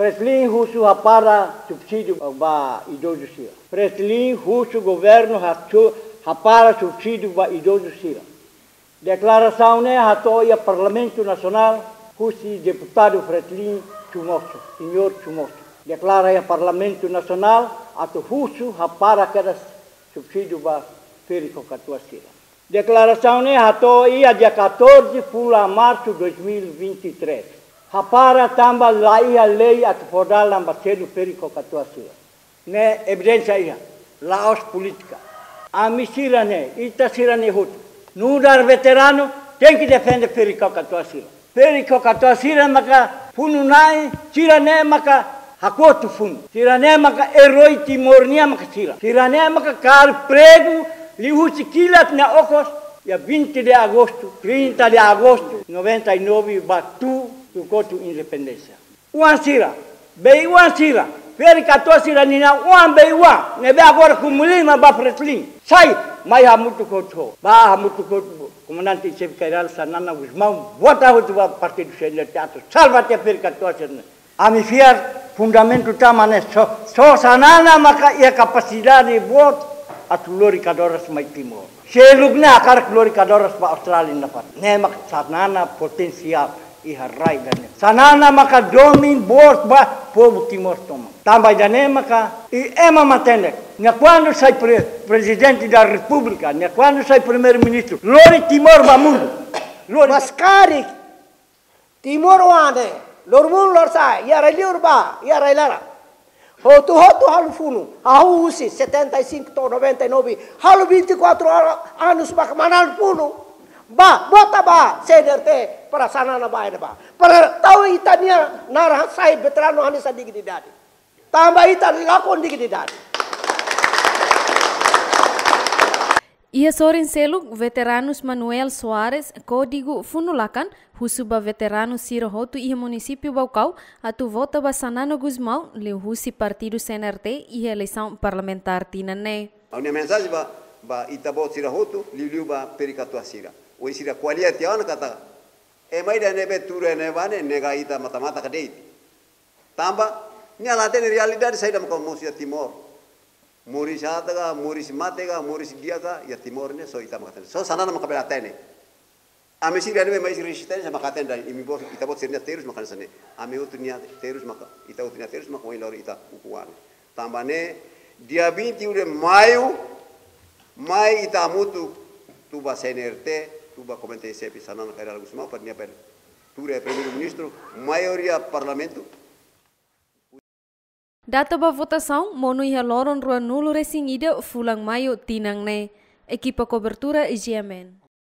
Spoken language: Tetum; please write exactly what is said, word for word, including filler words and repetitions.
Fretilin husu hapara subsídiu ba idozu sira. Fretilin husu governu hatu-, hapara subsídiu ba idozu sira. Deklarasaun ne'e hato'o iha Parlamentu Nasionál husi deputadu Fretilin Chumoso, señór Chumoso. Deklara iha Parlamentu Nasionál atu husu hapara kedas subsídiu ba ferik-kakatua sira. Deklarasaun ne'e hato'o iha dia catorze fulan Marsu dois mil e vinte e três. Hapara tanba la iha lei atu fó dalan ba selu ferik-kakatua sira. Ne'e evidénsia iha, la'ós polítika. Ami sira-ne'e, ita sira-ne'e hotu, nu'udar veteranu, tenke defende ferik-kakatua sira. Ferik-kakatua sira maka funu-na'in, sira-ne'e maka hakotu funu. Sira-ne'e maka erói Timor nian maka sira. Sira-ne'e maka kaer pregu liuhusi kilat nia okos, iha vinte de agosto, trinta de agosto, noventa e nove ba tuir kotuk independénsia. Oan sira, bei-oan sira, ferik-kakatua sira-nia oan bei-oan, ne'ebé agora komu lima ba Fretilin. Sai, mai hamutuk hotu ho. Ba hamutuk hotu ho Komandante em Xefe Jenerál Xanana Gusmão, vota hotu ba partidu C N R T atu salva tiha ferik-kakatua sira-ne'e. Ami fiar fundamentu tama ne'e só, só Xanana maka iha kapasidade boot atu lori kadoras mai Timor. Seluk ne'e hakarak lori kadoras ba Austrália nafatin. Ne'e maka Xanana potensiál iha rai ida-ne'e. Xanana maka domin boot ba povu Timor tomak. Tanba ida-ne'e maka, i ema matenek. Nia kuandu sai pre-, Prezidente da Repúblika, nia kuandu sai Primeiru-Ministru, lori Timor ba mundu. Lori. Mas karik Timor-oan ne'e, loromonu lorosa'e, iha rai-liur ba iha rai-laran, hotu-hotu halo funu, hahú husi setenta e cinco to'o noventa e nove, halo vinte e quatro anos ba manán funu. Ba, vota ba C N R T para Xanana ba, ene ba. Para tau ita-nia naran sai veteranu hanesan dignidade. Tanba ita lakon dignidade. Iha sorin seluk, veteranus Manuel Soares Kódigu Funu Lakan husu ba veteranu sira hotu iha munisípiu Baucau atu vota ba Xanana Gusmão liuhusi partidu C N R T iha eleisaun parlamentár tinan ne'e. Ha'u-nia mensajen ba, ba ita-boot sira hotu, liuliu ba ferik-kakatua sira. Ohin sira ko'alia tiha ona katak, ema ida ne'ebé tuur iha ne'ebá ne'e nega ita matan-matan ka de'it. Tanba nia la hatene realidade saida maka mosu iha Timor. Moris aat ka, moris mate ka, moris di'ak ka, iha Timor ne'e só ita maka hatene. Só Xanana maka bele hatene. Ami sira ne'ebé mai husi rezisténsia maka hatene, imi-boot, ita-boot sira-nia terus maka hanesan ne'e. Ami hotu nia terus maka, ita hotu nia terus maka ohin lori ita ukun-an. Tanba ne'e, dia vinte de maio, mai ita hamutuk, tuir ba C N R T, tuir ba Komandante em Xefe Xanana Kay Rala Gusmão, para nia bele tuur iha Primeiru-Ministru, maioria Parlamentu. Data ba votasaun monu iha loron ruanulu-resin-ida fulan Maiu tinan ne'e. Ekipa kobertura G M N.